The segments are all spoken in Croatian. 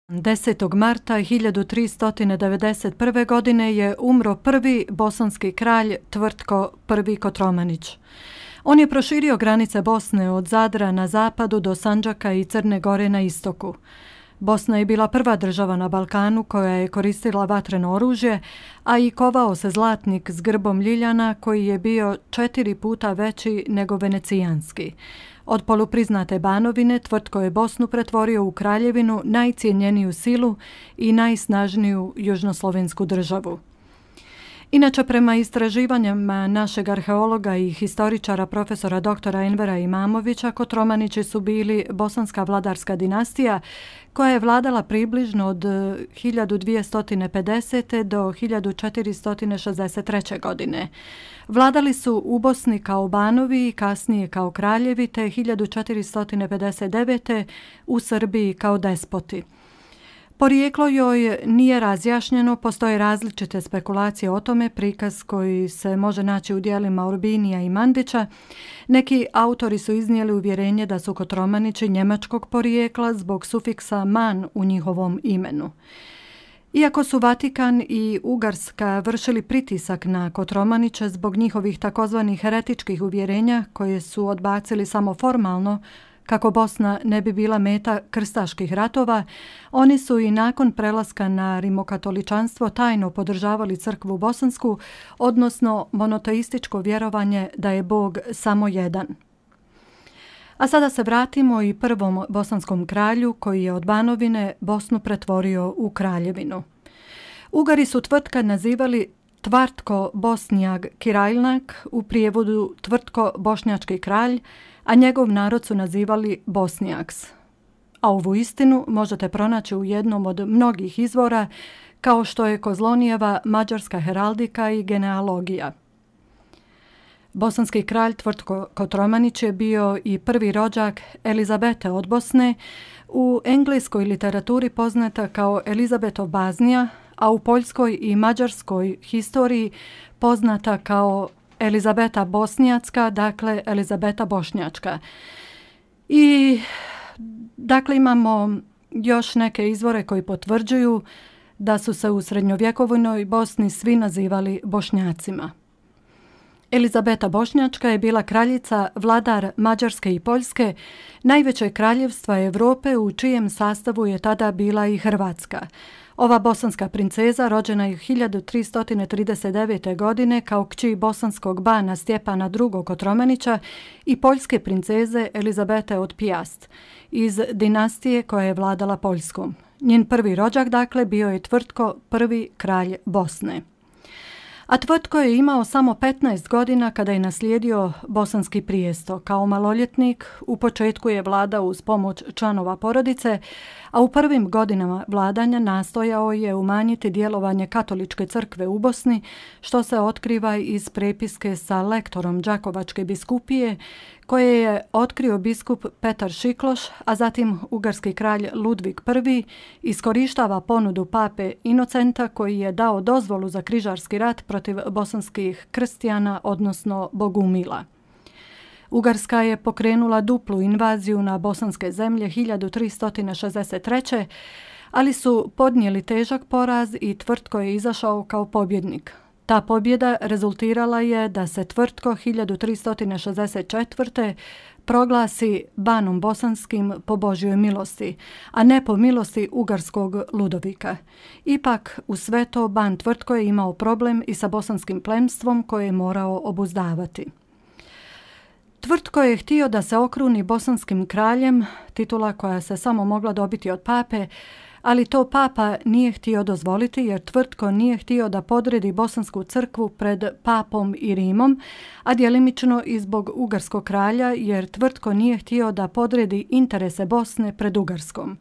10. marta 1391. godine je umro prvi bosanski kralj Tvrtko I Kotromanić. On je proširio granice Bosne od Zadra na zapadu do Sandžaka i Crne Gore na istoku. Bosna je bila prva država na Balkanu koja je koristila vatreno oružje, a i kovao se zlatnik s grbom ljiljana koji je bio 4 puta veći nego venecijanski. Od polupriznate Banovine Tvrtko je Bosnu pretvorio u kraljevinu, najcijenjeniju silu i najsnažniju južnoslovensku državu. Inače, prema istraživanjima našeg arheologa i historičara profesora dr. Envera Imamovića, Kotromanići su bili bosanska vladarska dinastija koja je vladala približno od 1250. do 1463. godine. Vladali su u Bosni kao banovi i kasnije kao kraljevi, te 1459. u Srbiji kao despoti. Porijeklo joj nije razjašnjeno, postoje različite spekulacije o tome, prikaz koji se može naći u dijelima Urbinija i Mandića. Neki autori su iznijeli uvjerenje da su Kotromanići njemačkog porijekla zbog sufiksa man u njihovom imenu. Iako su Vatikan i Ugarska vršili pritisak na Kotromaniće zbog njihovih takozvanih heretičkih uvjerenja koje su odbacili samo formalno, kako Bosna ne bi bila meta krstaških ratova, oni su i nakon prelaska na rimokatoličanstvo tajno podržavali crkvu bosansku, odnosno monoteističko vjerovanje da je Bog samo jedan. A sada se vratimo i prvom bosanskom kralju koji je od Banovine Bosnu pretvorio u kraljevinu. Ugari su Tvrtka nazivali Tvartko Bosnjag Kirajlnak, u prijevodu Tvrtko Bošnjački kralj, a njegov narod su nazivali Bosnjaks. A ovu istinu možete pronaći u jednom od mnogih izvora, kao što je Kozlonijeva mađarska heraldika i genealogija. Bosanski kralj Tvrtko Kotromanić je bio i prvi rođak Elizabete od Bosne, u engleskoj literaturi poznata kao Elizabetov Baznija, a u poljskoj i mađarskoj historiji poznata kao Elizabeta Bosnjacka, dakle Elizabeta Bošnjačka. I dakle imamo još neke izvore koji potvrđuju da su se u srednjovjekovnoj Bosni svi nazivali Bošnjacima. Elizabeta Bošnjačka je bila kraljica, vladar Mađarske i Poljske, najvećeg kraljevstva Europe u čijem sastavu je tada bila i Hrvatska. Ova bosanska princeza rođena je 1339. godine kao kći bosanskog bana Stjepana II. Kotromanića i poljske princeze Elizabete od Pijast iz dinastije koja je vladala Poljskom. Njen prvi rođak, dakle, bio je Tvrtko I kralj Bosne. A Tvrtko je imao samo 15 godina kada je naslijedio bosanski prijesto. Kao maloljetnik u početku je vladao uz pomoć članova porodice, a u prvim godinama vladanja nastojao je umanjiti djelovanje katoličke crkve u Bosni, što se otkriva iz prepiske sa lektorom Đakovačke biskupije, koje je otkrio biskup Petar Šikloš, a zatim ugarski kralj Ludvig I iskorištava ponudu pape Inocenta koji je dao dozvolu za križarski rat protiv bosanskih krstijana, odnosno Bogumila. Ugarska je pokrenula duplu invaziju na bosanske zemlje 1363. ali su podnijeli težak poraz i Tvrtko je izašao kao pobjednik. Ta pobjeda rezultirala je da se Tvrtko 1364. proglasi banom bosanskim po Božjoj milosti, a ne po milosti ugarskog Ludovika. Ipak, u sve to ban Tvrtko je imao problem i sa bosanskim plemstvom koje je morao obuzdavati. Tvrtko je htio da se okruni bosanskim kraljem, titula koja se samo mogla dobiti od pape, ali to papa nije htio dozvoliti jer Tvrtko nije htio da podredi bosansku crkvu pred papom i Rimom, a djelimično i zbog ugarskog kralja jer Tvrtko nije htio da podredi interese Bosne pred Ugarskom.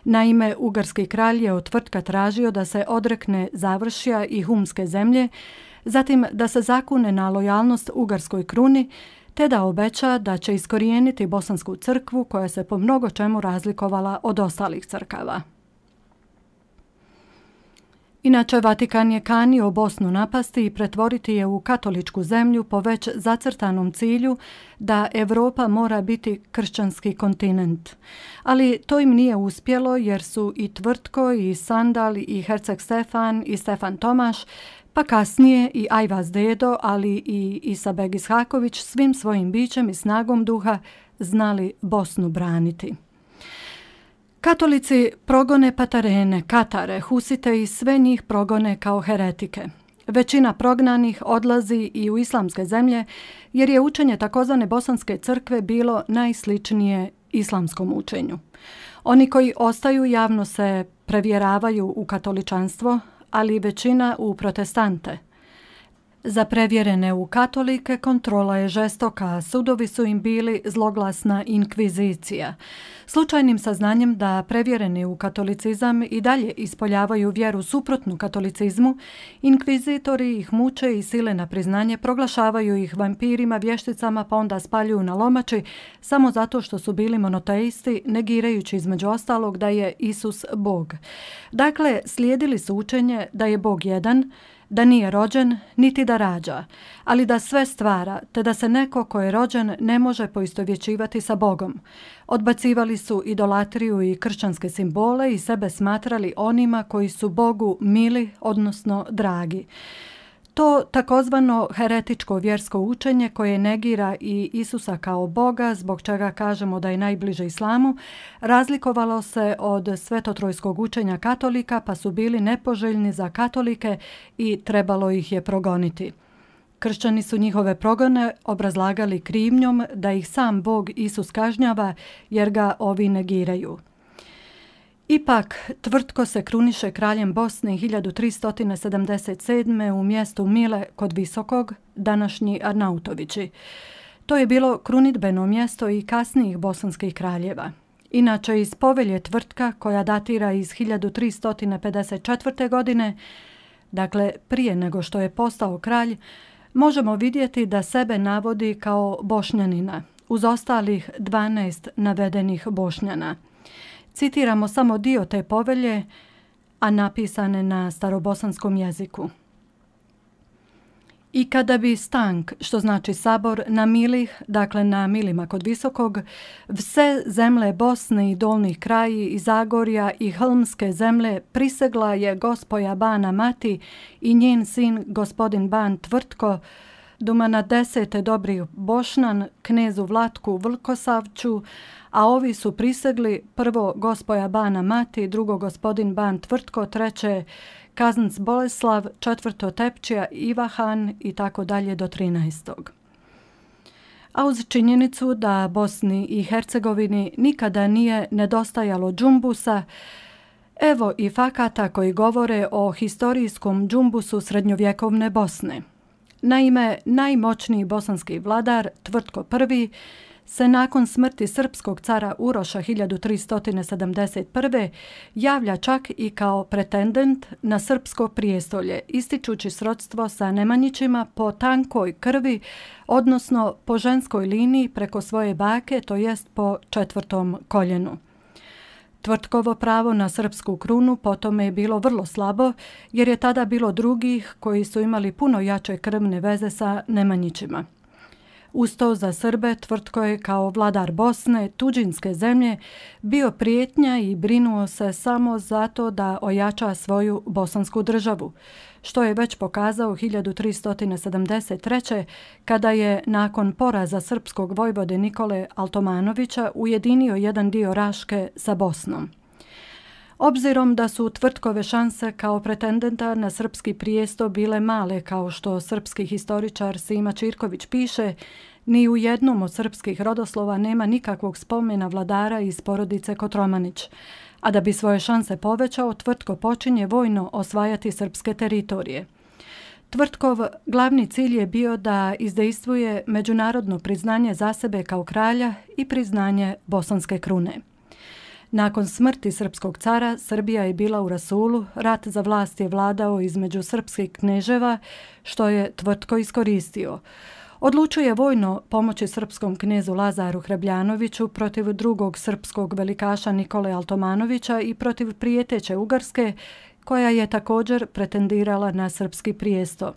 Naime, ugarski kralj je od Tvrtka tražio da se odrekne Završja i Humske zemlje, zatim da se zakune na lojalnost ugarskoj kruni, te da obeća da će iskorijeniti bosansku crkvu koja se po mnogo čemu razlikovala od ostalih crkava. Inače, Vatikan je kanio Bosnu napasti i pretvoriti je u katoličku zemlju po već zacrtanom cilju da Europa mora biti kršćanski kontinent. Ali to im nije uspjelo jer su i Tvrtko, i Sandal, i Herceg Stefan, i Stefan Tomaš, pa kasnije i Ajvaz Dedo, ali i Isabeg Ishaković svim svojim bićem i snagom duha znali Bosnu braniti. Katolici progone Patarene, Katare, Husite i sve njih progone kao heretike. Većina prognanih odlazi i u islamske zemlje jer je učenje takozvane bosanske crkve bilo najsličnije islamskom učenju. Oni koji ostaju javno se prevjeravaju u katoličanstvo, ali većina u protestante. Za prevjerene u katolike kontrola je žestoka, a sudovi su im bili zloglasna inkvizicija. Slučajnim saznanjem da prevjereni u katolicizam i dalje ispoljavaju vjeru suprotnu katolicizmu, inkvizitori ih muče i sile na priznanje, proglašavaju ih vampirima, vješticama, pa onda spaljuju na lomači samo zato što su bili monoteisti, negirajući između ostalog da je Isus Bog. Dakle, slijedili su učenje da je Bog jedan, da nije rođen, niti da rađa, ali da sve stvara, te da se neko ko je rođen ne može poistovjećivati sa Bogom. Odbacivali su idolatriju i kršćanske simbole i sebe smatrali onima koji su Bogu mili, odnosno dragi. To takozvano heretičko vjersko učenje koje negira i Isusa kao Boga, zbog čega kažemo da je najbliže islamu, razlikovalo se od svetotrojskog učenja katolika, pa su bili nepoželjni za katolike i trebalo ih je progoniti. Kršćani su njihove progone obrazlagali krivnjom da ih sam Bog Isus kažnjava jer ga ovi negiraju. Ipak, Tvrtko se kruniše kraljem Bosne 1377. u mjestu Mile kod Visokog, današnji Arnautovići. To je bilo krunidbeno mjesto i kasnijih bosanskih kraljeva. Inače, iz povelje Tvrtka, koja datira iz 1354. godine, dakle prije nego što je postao kralj, možemo vidjeti da sebe navodi kao Bošnjanina, uz ostalih 12 navedenih Bošnjana. Citiramo samo dio te povelje, a napisane na starobosanskom jeziku. I kada bi stank, što znači sabor, na Milih, dakle na Milima kod Visokog, vse zemlje Bosne i dolnih kraji i Zagorja i Hlmske zemlje prisegla je gospoja Bana Mati i njen sin gospodin Ban Tvrtko, duma na 10. dobrih Bošnan, knezu Vlatku Vlkosavču, a ovi su prisegli prvo gospoja Bana Mati, drugo gospodin Ban Tvrtko, treće Kaznc Boleslav, četvrto Tepčija Ivahan i tako dalje do 13. A uz činjenicu da Bosni i Hercegovini nikada nije nedostajalo džumbusa, evo i fakata koji govore o historijskom džumbusu srednjovjekovne Bosne. Naime, najmoćniji bosanski vladar, Tvrtko I, se nakon smrti srpskog cara Uroša 1371. javlja čak i kao pretendent na srpsko prijestolje, ističući srodstvo sa Nemanjićima po tankoj krvi, odnosno po ženskoj liniji preko svoje bake, to jest po 4. koljenu. Tvrtkovo pravo na srpsku krunu potome je bilo vrlo slabo, jer je tada bilo drugih koji su imali puno jače krvne veze sa Nemanjićima. Uz to za Srbe Tvrtko je kao vladar Bosne, tuđinske zemlje, bio prijetnja i brinuo se samo zato da ojača svoju bosansku državu, što je već pokazao 1373. kada je nakon poraza srpskog vojvode Nikole Altomanovića ujedinio jedan dio Raške sa Bosnom. Obzirom da su Tvrtkove šanse kao pretendenta na srpski prijesto bile male, kao što srpski historičar Sima Čirković piše, ni u jednom od srpskih rodoslova nema nikakvog spomena vladara iz porodice Kotromanić, a da bi svoje šanse povećao, Tvrtko počinje vojno osvajati srpske teritorije. Tvrtkov glavni cilj je bio da izdejstvuje međunarodno priznanje za sebe kao kralja i priznanje bosanske krune. Nakon smrti srpskog cara, Srbija je bila u rasulu, rat za vlast je vladao između srpskih kneževa, što je Tvrtko iskoristio. Odlučuje vojno pomoći srpskom knezu Lazaru Hrebljanoviću protiv drugog srpskog velikaša Nikole Altomanovića i protiv prijeteće Ugarske, koja je također pretendirala na srpski prijesto.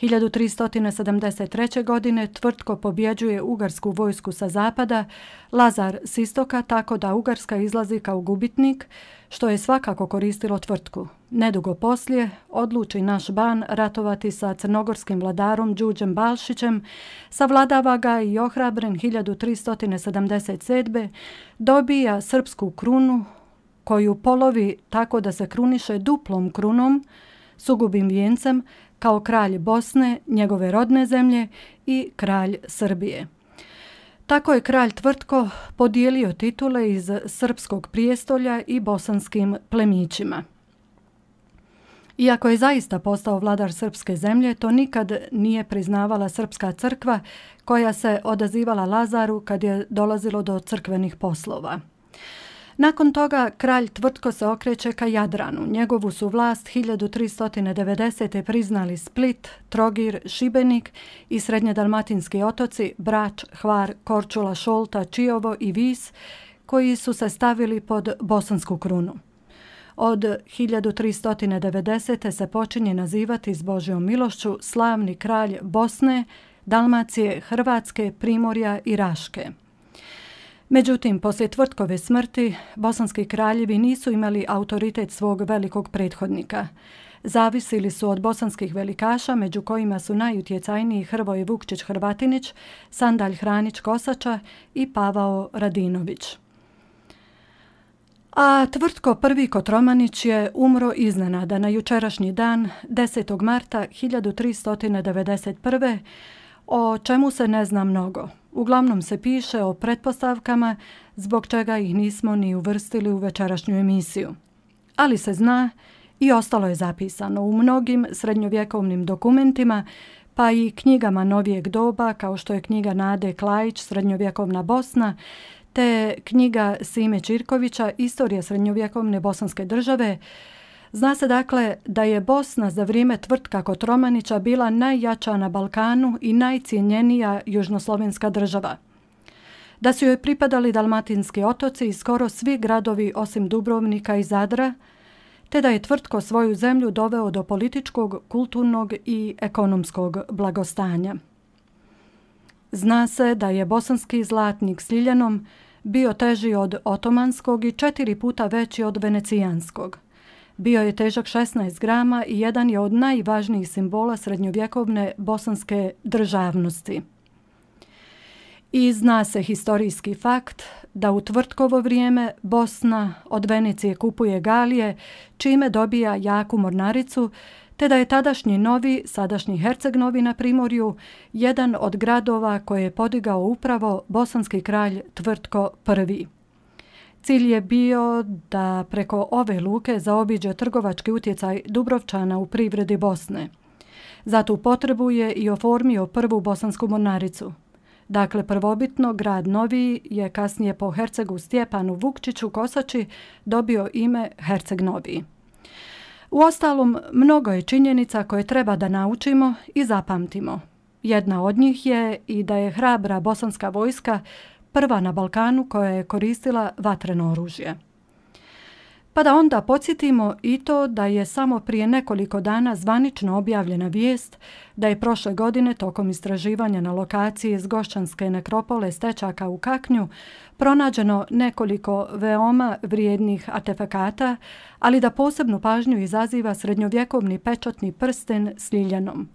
1373. godine Tvrtko pobjeđuje ugarsku vojsku sa zapada, Lazar s istoka, tako da Ugarska izlazi kao gubitnik, što je svakako koristilo Tvrtku. Nedugo poslije odluči naš ban ratovati sa crnogorskim vladarom Đurđem Balšićem, savladava ga i ohrabren 1377. dobija srpsku krunu, koju polovi tako da se kruniše duplom krunom, sugubim vijencem, kao kralj Bosne, njegove rodne zemlje, i kralj Srbije. Tako je kralj Tvrtko podijelio titule iz srpskog prijestolja i bosanskim plemićima. Iako je zaista postao vladar srpske zemlje, to nikad nije priznavala srpska crkva koja se odazivala Lazaru kad je dolazilo do crkvenih poslova. Nakon toga kralj Tvrtko se okreće ka Jadranu. Njegovu su vlast 1390. priznali Split, Trogir, Šibenik i srednjedalmatinski otoci Brač, Hvar, Korčula, Šolta, Čiovo i Vis, koji su se stavili pod bosansku krunu. Od 1390. se počinje nazivati s Božjom milošću slavni kralj Bosne, Dalmacije, Hrvatske, Primorja i Raške. Međutim, poslije Tvrtkove smrti, bosanski kraljevi nisu imali autoritet svog velikog prethodnika. Zavisili su od bosanskih velikaša, među kojima su najutjecajniji Hrvoje Vukčić Hrvatinić, Sandalj Hranić Kosača i Pavao Radinović. A Tvrtko I Kotromanić je umro iznenada na jučerašnji dan, 10. marta 1391. o čemu se ne zna mnogo. Uglavnom se piše o pretpostavkama, zbog čega ih nismo ni uvrstili u večerašnju emisiju. Ali se zna i ostalo je zapisano u mnogim srednjovjekovnim dokumentima, pa i knjigama novijeg doba, kao što je knjiga Nade Klajić, Srednjovjekovna Bosna, te knjiga Sime Čirkovića, Istorija srednjovjekovne bosanske države. Zna se dakle da je Bosna za vrijeme Tvrtka Kotromanića bila najjača na Balkanu i najcijenjenija južnoslovenska država. Da su joj pripadali dalmatinski otoci i skoro svi gradovi osim Dubrovnika i Zadra, te da je Tvrtko svoju zemlju doveo do političkog, kulturnog i ekonomskog blagostanja. Zna se da je bosanski zlatnik s Ljiljanom bio teži od otomanskog i 4 puta veći od venecijanskog. Bio je težak 16 grama i jedan je od najvažnijih simbola srednjovjekovne bosanske državnosti. I zna se historijski fakt da u Tvrtkovo vrijeme Bosna od Venecije kupuje galije, čime dobija jaku mornaricu, te da je tadašnji Novi, sadašnji Herceg Novi na Primorju, jedan od gradova koje je podigao upravo bosanski kralj Tvrtko I. Cilj je bio da preko ove luke zaobiđe trgovački utjecaj Dubrovčana u privredi Bosne. Za tu potrebu je i oformio prvu bosansku mornaricu. Dakle, prvobitno grad Novi je kasnije po hercegu Stjepanu Vukčiću Kosači dobio ime Herceg Novi. Uostalom, mnogo je činjenica koje treba da naučimo i zapamtimo. Jedna od njih je i da je hrabra bosanska vojska prva na Balkanu koja je koristila vatreno oružje. Pa da onda podsjetimo i to da je samo prije nekoliko dana zvanično objavljena vijest da je prošle godine tokom istraživanja na lokaciji iz Gošćanske nekropole Stečaka u Kaknju pronađeno nekoliko veoma vrijednih artefakata, ali da posebnu pažnju izaziva srednjovjekovni pečatni prsten s Ljiljanom.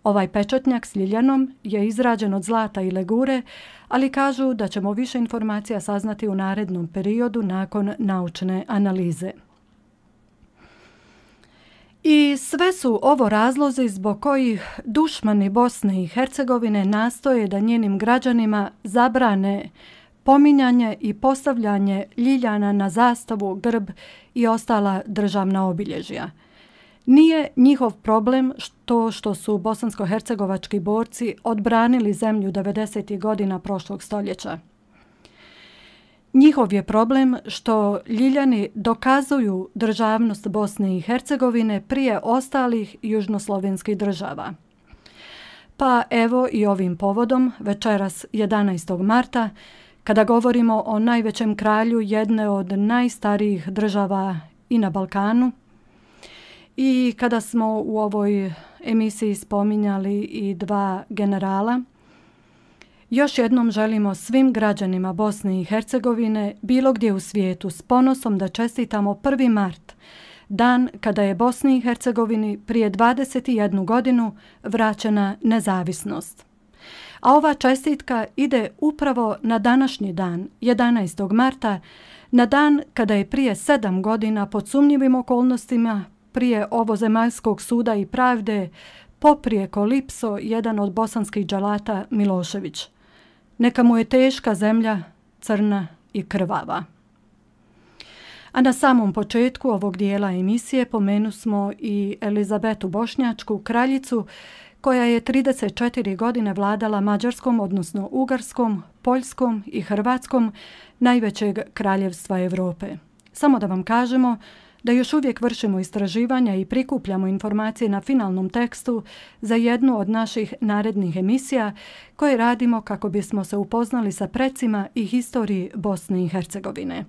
Ovaj pečatnjak s Ljiljanom je izrađen od zlata i legure, ali kažu da ćemo više informacija saznati u narednom periodu nakon naučne analize. I sve su ovo razlozi zbog kojih dušmani Bosne i Hercegovine nastoje da njenim građanima zabrane pominjanje i postavljanje ljiljana na zastavu, grb i ostala državna obilježja. Nije njihov problem što su bosansko-hercegovački borci odbranili zemlju 90. godina prošlog stoljeća. Njihov je problem što Ljiljani dokazuju državnost Bosne i Hercegovine prije ostalih južnoslovenskih država. Pa evo i ovim povodom, večeras 11. marta, kada govorimo o najvećem kralju jedne od najstarijih država i na Balkanu, I kada smo u ovoj emisiji spominjali i dva generala, još jednom želimo svim građanima Bosne i Hercegovine bilo gdje u svijetu s ponosom da čestitamo 1. mart, dan kada je Bosni i Hercegovini prije 21 godinu vraćena nezavisnost. A ova čestitka ide upravo na današnji dan, 11. marta, na dan kada je prije 7 godina pod sumnjivim okolnostima prije ovozemaljskog suda i pravde poprijeko lipso jedan od bosanskih dželata Milošević. Neka mu je teška zemlja, crna i krvava. A na samom početku ovog dijela emisije pomenusmo i Elizabetu Bošnjačku, kraljicu, koja je 34 godine vladala Mađarskom, odnosno Ugarskom, Poljskom i Hrvatskom, najvećeg kraljevstva Europe. Samo da vam kažemo da još uvijek vršimo istraživanja i prikupljamo informacije na finalnom tekstu za jednu od naših narednih emisija koje radimo kako bismo se upoznali sa precima i historiji Bosne i Hercegovine.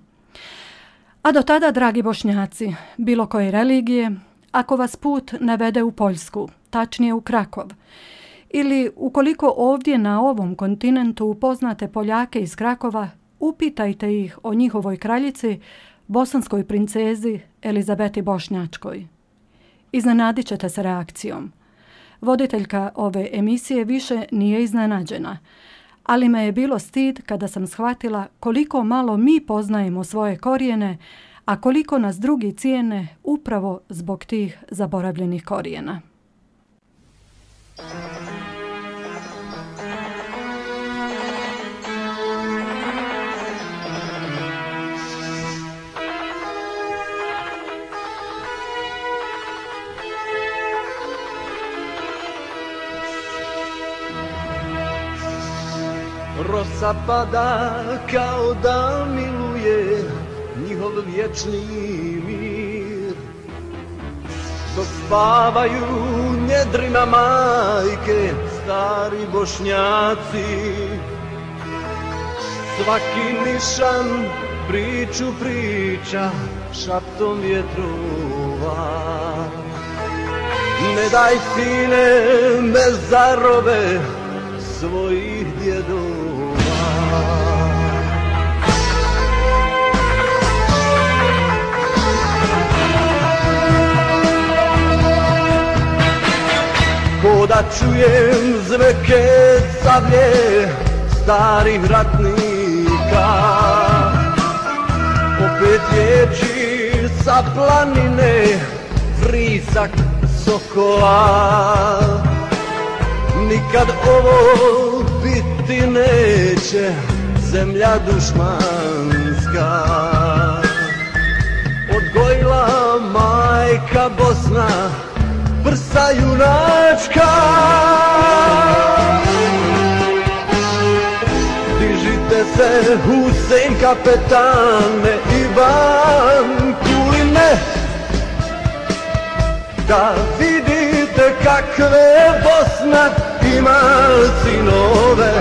A do tada, dragi Bošnjaci, bilo koje religije, ako vas put navede u Poljsku, tačnije u Krakov, ili ukoliko ovdje na ovom kontinentu upoznate Poljake iz Krakova, upitajte ih o njihovoj kraljici, bosanskoj princezi Elizabeti Bošnjačkoj. Iznenadit ćete se reakcijom. Voditeljka ove emisije više nije iznenađena, ali me je bilo stid kada sam shvatila koliko malo mi poznajemo svoje korijene, a koliko nas drugi cijene upravo zbog tih zaboravljenih korijena. Rosa pada kao da miluje njihov vječni mir, dok spavaju njedrima majke stari Bošnjaci. Svaki nišan priču priča šaptom vjetrova. Ne daj sine me zarobe svojih djedova. Ko da čujem zveke sablje starih ratnika, opet riječi sa planine, vrisak sokola. Nikad ovo biti neće zemlja dušmanska. Odgojila majka Bosna prsa junačka. Dižite se Husein kapetane i Ban Kuline, da vidite kakve Bosna ima sinove.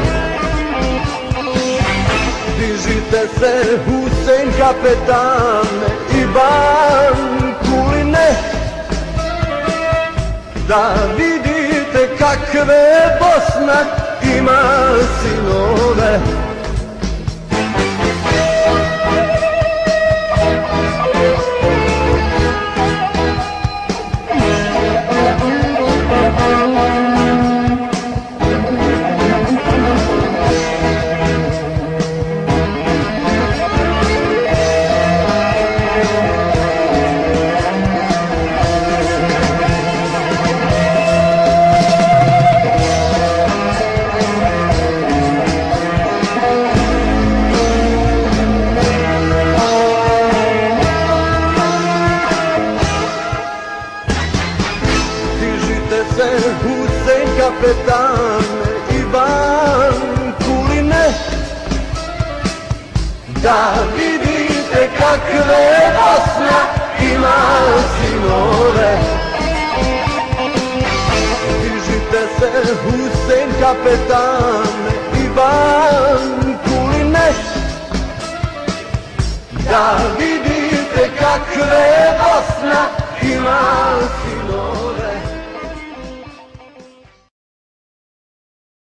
Dižite se Husein kapetane i Ban Kuline, da vidite kakve Bosna ima sinove. Kapetane i Ban Kuline, da vidite kakve Bosna ima sinove. Dižite se Husein kapetane i Ban Kuline, da vidite kakve Bosna ima